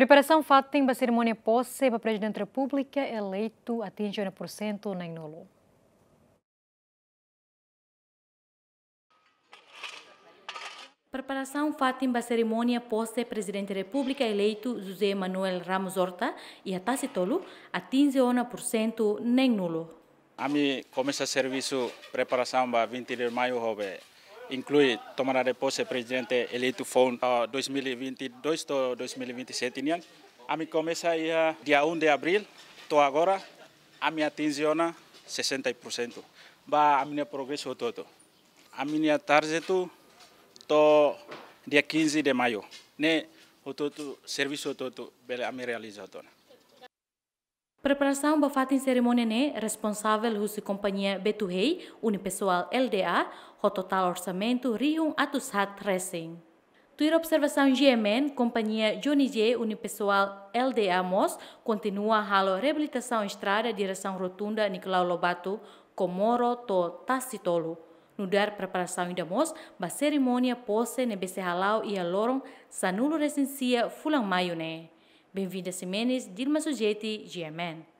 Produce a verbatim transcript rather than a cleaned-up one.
Preparasaun fatin ba serimónia pose ba Prezidente Repúblika eleitu atinje ona pursentu neen-nulu. Preparasaun fatin ba serimónia pose Prezidente Repúblika eleitu José Manuel Ramos Horta iha Tasitolu atinje ona pursentu neen-nulu. Ami komesa servisu preparasaun ba vinte de Maio ho be inklui tomada de pose Prezidente eleitu foun, ah, dois mil e vinte e dois to'o dois mil e vinte e sete nian. Ami komesa iha dia um de Abril to'o agora, ami atinje ona sessenta por cento. Ba ami-nia progresu hotu-hotu. Ami-nia target to'o dia quinze de Maio ne'e hotu-hotu, servisu hotu-hotu bele ami realiza hotu ona. Preparasaun ba fatin serimónia ne'e responsavel husi kompañia Betuhei Unipessoal Lda ho totál orsamentu rihun atus haat resin. Tuir observasaun G M N, kompañia Johnny J Unipessoal Lda mós kontinua halo reabilitasaun estrada diresaun rotunda Nicolau Lobato, Comoro to'o Tasitolu. Nu'udar preparasaun ida mós ba serimónia pose ne'ebé sei hala'o iha loron sanulu resin sia fulan Maiu ne'e. Benvinda Ximenes, Dilma Sujeti, G M N.